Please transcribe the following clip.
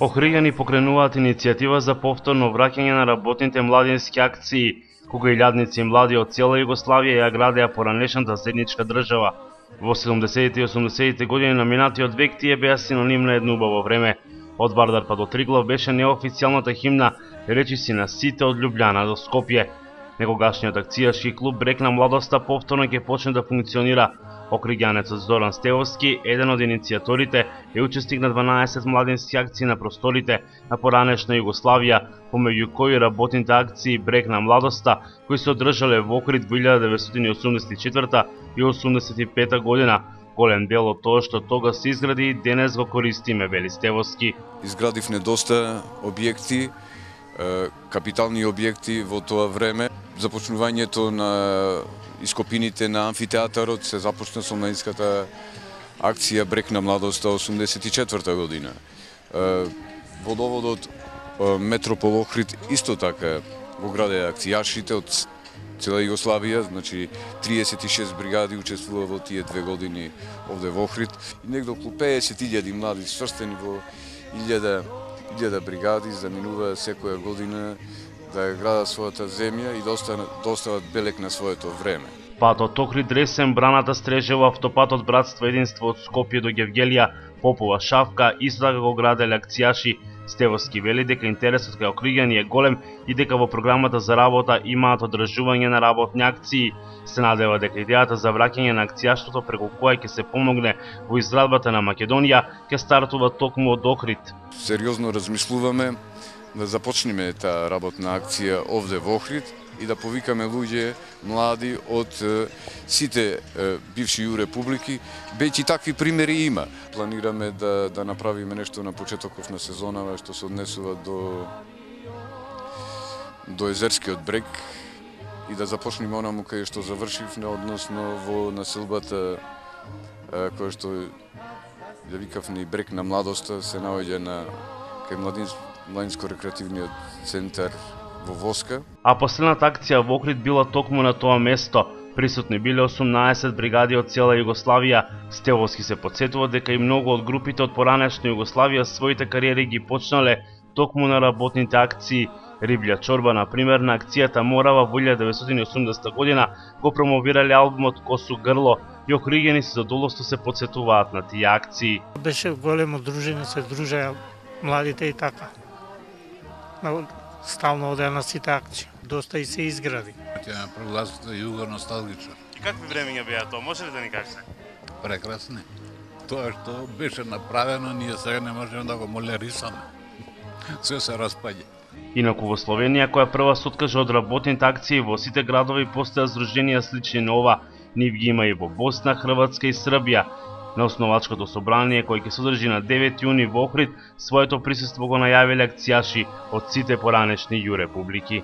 Охриѓани покренуваат иницијатива за повторно враќање на работните младински акции, кога илјадници млади од цела Југославија ја градеа поранешната заедничка држава. Во 70-те и 80-те години на минатиот век тие беа синоним на едно убаво време. Од Вардар па до Триглав беше неофицијалната химна речиси на сите од Љубљана до Скопје. Некогашниот акцијашки клуб Брег на младоста повторно ќе почне да функционира. Охриѓанецот Зоран Стевовски, еден од иницијаторите, е учесник на 12 младински акции на просторите на поранешна Југославија, помеѓу кои работните акции Брег на младоста, кои се одржале во Охрид во 1984 и 85 година. Голем дел од тоа што тога се изгради и денес го користиме, вели Стевовски. Изградивме доста објекти, капитални објекти во тоа време. Започнувањето на ископините на амфитеатарот се започна со младинската акција Брег на младоста 84 година. Водоводот Метропол Охрид исто така го граде акцијашите од цела Југославија, значи 36 бригади учествува во тие 2 години овде во Охрид. И негде околу 50.000 млади сврстени во 1000 бригади заминува секоја година да ја градат својата земја и да остават белек на своето време. Патот Охрид-Ресен, Браната Стрежево, автопатот Братство Единство од Скопје до Гевгелија, Попова Шавка, исто така го граделе акцијаши. Стевовски вели дека интересот кај охриѓани е голем и дека во програмата за работа имаат одржување на работни акции. Се надева дека идејата за враќање на акцијаштото преку која ќе се помогне во изградбата на Македонија ќе стартува токму од Охрид. Сериозно размислуваме да започнеме таа работна акција овде во Охрид и да повикаме луѓе млади од сите бивши републики, веќе такви примери има. Планираме да направиме нешто на почетокот на сезонава што се однесува до Езерскиот брег и да започнеме онаму кај што завршивме, односно во населбата која што ја викавме Брег на младоста, се наоѓа на кај младинско-рекреативниот центар во Воска. А последната акција во Охрид била токму на тоа место. Присутни биле 18 бригади од цела Југославија. Стевовски се потсетува дека и многу од групите од поранешна Југославија своите кариери ги почнале токму на работните акции. Риблја чорба, на пример, на акцијата Морава во 1980 година го промовирале албумот Косо грло и охриѓани со задоволство се потсетуваат на тие акции. Беше големо дружење, се дружеа младите и така. Стално одеа на сите акции. Доста и се изгради. Тя прогласите југо носталгично. И какви времења беа тоа? Може ли да ни кажете? Прекрасни. Тоа што беше направено, ние сега не можеме да го молерисаме. Се се распаѓа. Инаку во Словенија, која прва се откажа од работните акции, во сите градови постојат здруженија слични на ова. Нив ги има и во Босна, Хрватска и Србија. На основачкото собрание, кој ќе се одржи на 9 јуни во Охрид, своето присуство го најавиле акцијаши од сите поранешни јурепублики.